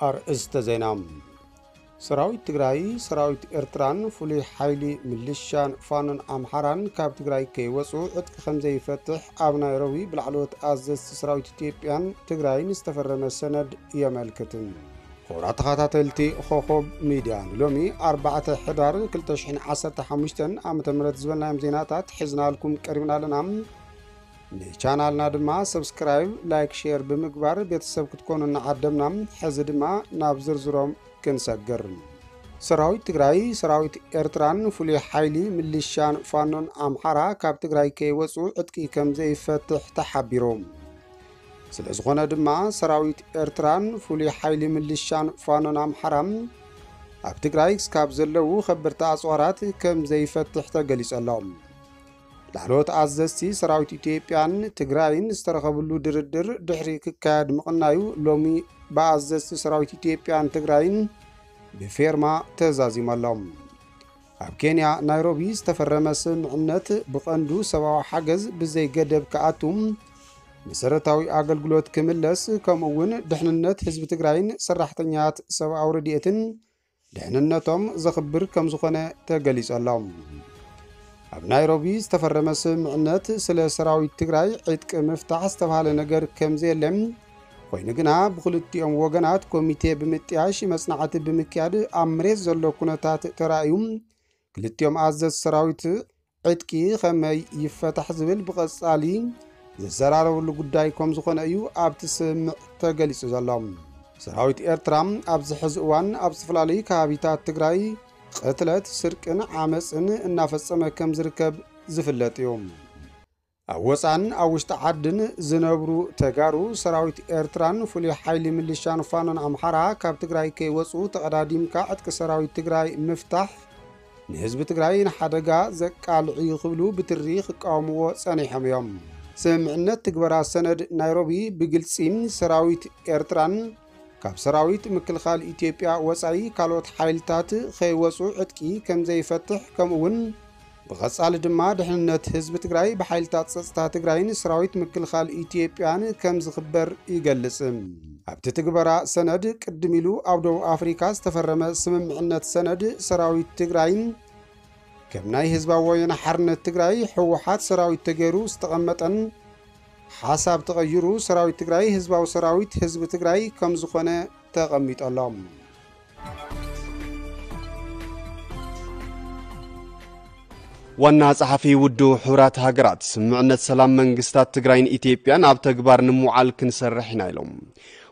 ኣርእስተ ዜና። ሰራዊት ትግራይ፣ ሰራዊት ኤርትራን ፍሉይ ሓይሊ ምልሻን ፋኖን ኣምሓራን ካብ ትግራይ ከይወፁ ዕጥቂ ከም ዘይፈትሕ ኣብ ናይሮቢ ብላዕለዎት ኣዘዝቲ ሰራዊት ኢትዮጵያን ትግራይን ዝተፈረመ ሰነድ የመልክት። ክቡራት ተኸታተልቲ ኮኾብ ሚድያ፣ ንሎሚ ኣርባዕተ ሕዳር ክልተ ሽሕን ዓሰርተ ሓሙሽተን ዓመተ ምህረት ዝበልናዮም ዜናታት ሒዝናልኩም ቀሪብና ኣለና። ንቻናልና ድማ ሰብስክራይብ፣ ላይክ፣ ሼር ብምግባር ቤተሰብ ክትኮኑ እናዓደምና፣ ሕዚ ድማ ናብ ዝርዝሮም ክንሰግር። ሰራዊት ትግራይ፣ ሰራዊት ኤርትራን ፍሉይ ሓይሊ ምልሻን ፋኖን ኣምሓራ ካብ ትግራይ ከይወፁ ዕጥቂ ከም ዘይፈትሕ ተሓቢሩ። ስለ ዝኾነ ድማ ሰራዊት ኤርትራን ፍሉይ ሓይሊ ምልሻን ፋኖን ኣምሓራ ኣብ ትግራይ እስካብ ዘለዉ ከበድቲ ኣፅዋራት ከም ዘይፈትሕ ተገሊጹ ኣሎ። ላዕለዎት ኣዘዝቲ ሰራዊት ኢትዮጵያን ትግራይን ዝተረኸብሉ ድርድር ድሕሪ ክካየድ ምቕናዩ ሎሚ ብኣዘዝቲ ሰራዊት ኢትዮጵያን ትግራይን ብፌርማ ተዛዚሙ ኣሎ። ኣብ ኬንያ ናይሮቢ ዝተፈረመ ስምምዕነት ብቐንዱ ሰብኣዊ ሓገዝ ብዘይ ገደብ ክኣቱ፣ መሰረታዊ ኣገልግሎት ክምለስ፣ ከምኡ እውን ድሕንነት ህዝቢ ትግራይን ሰራሕተኛት ሰብኣዊ ረድኤትን ድሕንነቶም ዘኽብር ከም ዝኾነ ተገሊጹ ኣሎ። ኣብ ናይሮቢ ዝተፈረመ ስምምዕነት ስለ ሰራዊት ትግራይ ዕጥቂ ምፍታሕ ዝተባህለ ነገር ከም ዘየለ፣ ኮይኑ ግና ብክልቲኦም ወገናት ኮሚቴ ብምጥያሽ መጽናዕቲ ብምክያድ ኣብ መሬት ዘሎ ኩነታት ተራእዩ፣ ክልቲኦም ኣዘዝ ሰራዊት ዕጥቂ ከመይ ይፈታሕ ዝብል ብቐጻሊ ዝዘራረብሉ ጉዳይ ከም ዝኾነ እዩ ኣብቲ ስምምዕ ተገሊጹ ዘሎ። ሰራዊት ኤርትራ ኣብዚ ሕዚ እዋን ኣብ ዝተፈላለዩ ከባቢታት ትግራይ ቅትለት፣ ስርቅን ዓመፅን እናፈጸመ ከም ዝርከብ ዝፍለጥ እዩ። ኣብ ወፃን ኣብ ውሽጢ ዓድን ዝነብሩ ተጋሩ ሰራዊት ኤርትራን ፍሉይ ሓይሊ ምልሻን ፋኖን ኣምሓራ ካብ ትግራይ ከይወፁ ተቐዳዲምካ ዕጥቂ ሰራዊት ትግራይ ምፍታሕ ንህዝቢ ትግራይ ንሓደጋ ዘቃልዕ እዩ ክብሉ ብትሪ ክቃወምዎ ጸኒሖም እዮም። ስምምዕነት ትግበራ ሰነድ ናይሮቢ ብግልጺ ሰራዊት ኤርትራን ካብ ሰራዊት ምክልኻል ኢትዮጵያ ወጻኢ ካልኦት ሓይልታት ከይወጹ ዕጥቂ ከም ዘይፈትሕ፣ ከምኡ እውን ብቐጻሊ ድማ ድሕንነት ህዝቢ ትግራይ ብሓይልታት ጸጥታ ትግራይን ሰራዊት ምክልኻል ኢትዮጵያን ከም ዝኽበር ይገልጽ። ኣብቲ ትግበራ ሰነድ ቅድም ኢሉ ኣብ ደቡብ ኣፍሪካ ዝተፈረመ ስምምዕነት ሰነድ ሰራዊት ትግራይን ከም ናይ ህዝባዊ ወያነ ሓርነት ትግራይ ህወሓት ሰራዊት ተገይሩ ዝተቐመጠን ሓሳብ ተቐይሩ ሰራዊት ትግራይ ህዝባዊ ሰራዊት ህዝቢ ትግራይ ከም ዝኾነ ተቐሚጡ ኣሎ። ዋና ጸሓፊ ውድብ ሕቡራት ሃገራት፣ ስምምዕነት ሰላም መንግስታት ትግራይን ኢትዮጵያን ኣብ ተግባር ንምውዓል ክንሰርሕ ኢና ኢሎም።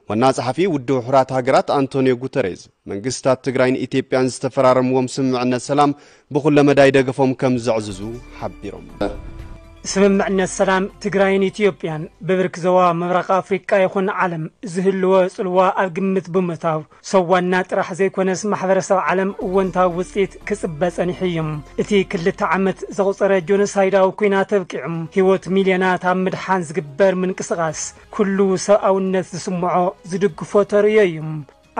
ዋና ጸሓፊ ውድብ ሕቡራት ሃገራት ኣንቶኒዮ ጉተሬዝ፣ መንግስታት ትግራይን ኢትዮጵያን ዝተፈራረምዎም ስምምዕነት ሰላም ብኹለ መዳይ ደገፎም ከም ዘዕዝዙ ሓቢሮም። ስምምዕነት ሰላም ትግራይን ኢትዮጵያን ብብርኪ ዞባ ምብራቕ ኣፍሪቃ ይኹን ዓለም ዝህልዎ ጽልዋ ኣብ ግምት ብምእታው፣ ሰብ ዋና ጥራሕ ዘይኮነስ ማሕበረሰብ ዓለም እወንታዊ ውጽኢት ክጽበ ጸኒሑ እዩ። እቲ ክልተ ዓመት ዘቑጸረ ጆኖሳይዳዊ ኲናት ኣብቂዑ፣ ህይወት ሚልዮናት ኣብ ምድሓን ዝግበር ምንቅስቓስ ኩሉ ሰብኣውነት ዝስምዖ ዝድግፎ ተርእዮ እዩ።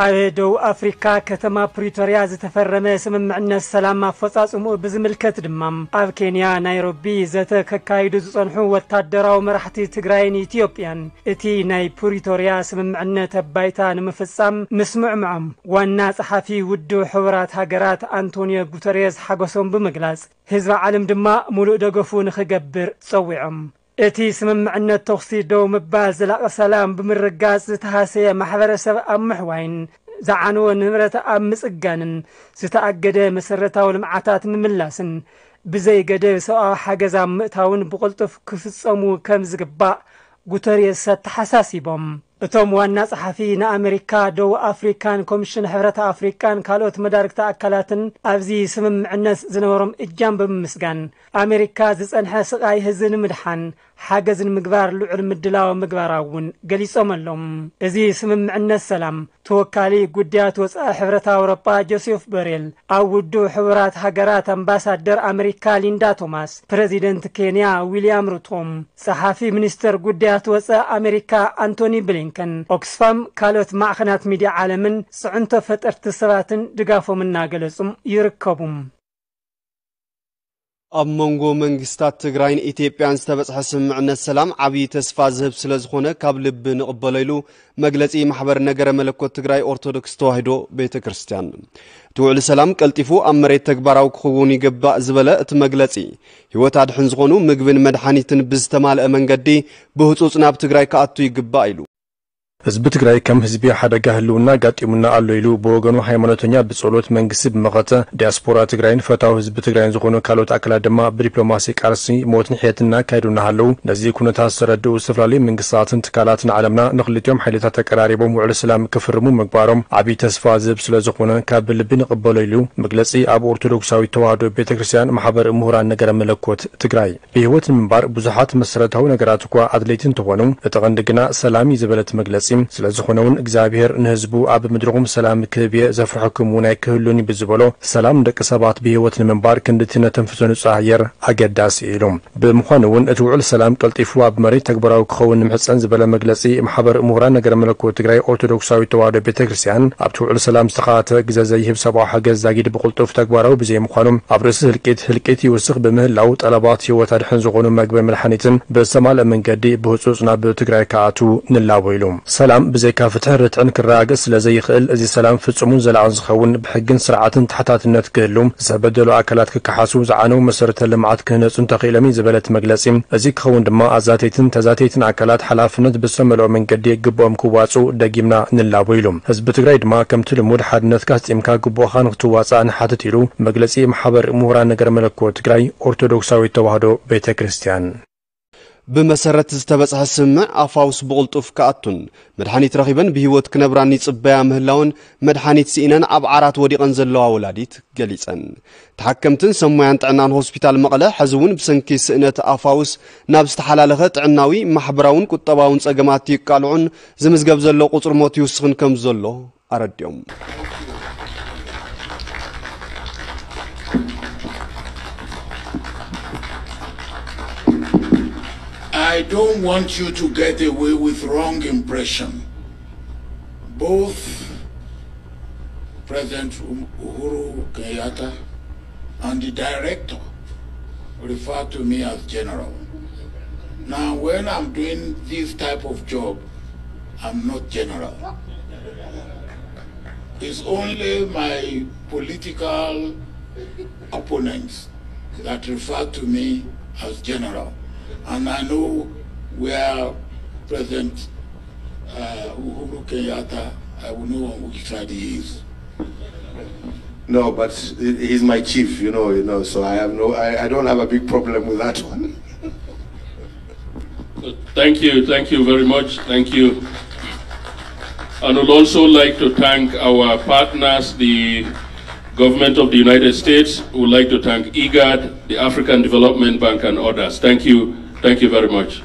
ኣብ ደቡብ ኣፍሪካ ከተማ ፕሪቶርያ ዝተፈረመ ስምምዕነት ሰላም ኣፈጻጽምኡ ብዝምልከት ድማ ኣብ ኬንያ ናይሮቢ ዘተ ከካይዱ ዝጸንሑ ወታደራዊ መራሕቲ ትግራይን ኢትዮጵያን እቲ ናይ ፕሪቶርያ ስምምዕነት ኣባይታ ንምፍጻም ምስምዕምዖም ዋና ጸሓፊ ውድብ ሕቡራት ሃገራት ኣንቶኒዮ ጉተሬዝ ሓጎሶም ብምግላጽ ህዝቢ ዓለም ድማ ሙሉእ ደገፉ ንኽገብር ጸዊዖም። እቲ ስምምዕነት ተኹሲ ደው ምባል ዘላቒ ሰላም ብምርጋጽ ዝተሃሰየ ማሕበረሰብ ኣብ ምሕዋይን ዝዓነወ ንብረት ኣብ ምጽጋንን ዝተኣገደ መሰረታዊ ልምዓታት ምምላስን ብዘይ ገደብ ሰብኣዊ ሓገዝ ኣብ ምእታውን ብቕልጡፍ ክፍጸሙ ከም ዝግባእ ጉተርየስ ኣተሓሳሲቦም። እቶም ዋና ጸሓፊ ንኣመሪካ፣ ደቡብ ኣፍሪካን ኮሚሽን ሕብረት ኣፍሪቃን ካልኦት መዳርግቲ ኣካላትን ኣብዚ ስምምዕነት ዝነበሮም እጃም ብምምስጋን ኣመሪካ ዝጸንሐ ስቓይ ህዝቢ ንምድሓን ሓገዝ ንምግባር ልዑል ምድላው ምግባራ እውን ገሊጾም ኣለዉ። እዚ ስምምዕነት ሰላም ተወካሊ ጉዳያት ወጻኢ ሕብረት ኣውሮጳ ጆሴፍ ቦሬል፣ ኣብ ውድብ ሕቡራት ሃገራት ኣምባሳደር ኣመሪካ ሊንዳ ቶማስ፣ ፕረዚደንት ኬንያ ዊልያም ሩቶ፣ ጸሓፊ ሚኒስተር ጉዳያት ወጻኢ ኣመሪካ ኣንቶኒ ብሊንከን፣ ኦክስፋም፣ ካልኦት ማዕኸናት ሚድያ ዓለምን ጽዕንቶ ፈጠርቲ ሰባትን ድጋፎም እናገለጹ ይርከቡ። ኣብ መንጎ መንግስታት ትግራይን ኢትዮጵያን ዝተበጽሐ ስምምዕነት ሰላም ዓብዪ ተስፋ ዝህብ ስለ ዝኾነ ካብ ልቢ ንቕበሎ ኢሉ መግለጺ ማሕበር ነገረ መለኮት ትግራይ ኦርቶዶክስ ተዋሕዶ ቤተ ክርስቲያን። እቲ ውዕሊ ሰላም ቀልጢፉ ኣብ መሬት ተግባራዊ ክኸውን ይግባእ ዝበለ እቲ መግለጺ፣ ህይወት ኣድሕን ዝኾኑ ምግብን መድሓኒትን ብዝተማልአ መንገዲ ብህጹጽ ናብ ትግራይ ክኣቱ ይግባእ ኢሉ። ህዝቢ ትግራይ ከም ህዝቢ ሓደጋ ህልውና ኣጋጢሙና ኣሎ ኢሉ ብወገኑ ሃይማኖተኛ ብጸሎት መንግስቲ ብመኸተ ዲያስፖራ ትግራይን ፈታዊ ህዝቢ ትግራይን ዝኾኑ ካልኦት ኣካላት ድማ ብዲፕሎማሲ ቃልሲ ሞትን ሕየትን እናካየዱ እናሃለዉ ነዚ ኩነታት ዝተረድኡ ዝተፈላለዩ መንግስታትን ትካላትን ዓለምና ንክልቲኦም ሓይልታት ተቀራሪቦም ውዕሊ ሰላም ክፍርሙ ምግባሮም ዓብዪ ተስፋ ዝህብ ስለ ዝኾነ ካብ ልቢ ንቕበሎ ኢሉ መግለጺ ኣብ ኦርቶዶክሳዊት ተዋህዶ ቤተ ክርስቲያን ማሕበር ምሁራን ነገረ መለኮት ትግራይ። ብህይወት ንምንባር ብዙሓት መሰረታዊ ነገራት እኳ ኣድለይቲ እንተኾኑ፣ እቲ ቀንዲ ግና ሰላም እዩ ዝበለት መግለጺ፣ ስለ ዝኾነ እውን እግዚኣብሔር ንህዝቡ ኣብ ምድርኹም ሰላም ክህብ እየ፣ ዘፍርሐኩም እውን ኣይክህሉን እዩ ብዝበሎ፣ ሰላም ንደቂ ሰባት ብህይወት ንምንባር ክንድቲ ነተንፍሶ ንጹህ ኣየር ኣገዳሲ እዩ ኢሉ። ብምዃኑ እውን እቲ ውዕል ሰላም ቀልጢፉ ኣብ መሬት ተግባራዊ ክኸውን ንምሕጸን ዝበለ መግለጺ ማሕበር ምሁራን ነገረ መለኮት ትግራይ ኦርቶዶክሳዊት ተዋህዶ ቤተ ክርስቲያን፣ ኣብቲ ውዕል ሰላም ዝተኻተ ግዘ ዘይህብ ሰብኣዊ ሓገዝ ዛጊድ ብቕልጡፍ ተግባራዊ ብዘይምዃኑ፣ ኣብ ርእሲ ህልቂት ህልቂት ይውስኽ ብምህላው፣ ጠለባት ህይወት ኣድሕን ዝኾኑ መግብን መድሓኒትን ብዝተማልአ መንገዲ ብህጹጽ ናብ ትግራይ ክኣትዉ ንላቦ ኢሉ። ሰላም ብዘይካ ፍትሕን ርትዕን ክረጋገጽ ስለ ዘይኽእል፣ እዚ ሰላም ፍጹምን ዘላቕን ዝኸውን ብሕግን ስርዓትን ተሓታትነት ክህሉ፣ ዝተበደሉ ኣካላት ክከሓሱ፣ ዝዓነው መሰረተ ልምዓት ክህነጹ እንተኽኢሎም እዩ ዝበለት መግለጺ፣ እዚ ክኸውን ድማ ኣዛተይትን ተዛተይትን ኣካላት ሓላፍነት ብዝተመልኦ መንገዲ ግብኦም ክዋጹ ደጊምና ንላቦ ኢሉ። ህዝቢ ትግራይ ድማ ከምቲ ልሙድ ሓድነትካ ኣስጢምካ ግቡእኻ ንክትዋጻእ ንሓትት ኢሉ መግለጺ ማሕበር ምሁራን ነገረ መለኮት ትግራይ ኦርቶዶክሳዊት ተዋህዶ ቤተ ክርስቲያን። ብመሰረት ዝተበጽሐ ስምምዕ ኣፋውስ ብቕልጡፍ ክኣቱን መድሓኒት ረኺበን ብህይወት ክነብራን ይጽበያ ምህላውን መድሓኒት ስኢነን ኣብ ዓራት ወዲቐን ዘለዋ ወላዲት ገሊጸን። ተሓከምትን ሰብ ሞያን ጥዕናን ሆስፒታል መቐለ ሕዚ እውን ብሰንኪ ስእነት ኣፋውስ ናብ ዝተሓላለኸ ጥዕናዊ፣ ማሕበራውን ቁጠባውን ጸገማት ይቃልዑን ዝምዝገብ ዘሎ ቁጽሪ ሞት ይውስኽን ከም ዘሎ ኣረዲኦም። I don't want you to get away with wrong impression. Both President Uhuru Kenyatta and the director refer to me as general. Now, when I'm doing this type of job, I'm not general. It's only my political opponents that refer to me as general. And I know where President uh, Uhuru Kenyatta, I will know on which side he is. No, but he's my chief, you know, you know. So I have no, I, I don't have a big problem with that one. Thank you, thank you very much. Thank you. And would also like to thank our partners, the government of the United States. Would like to thank IGAD, the African Development Bank, and others. Thank you, thank you very much.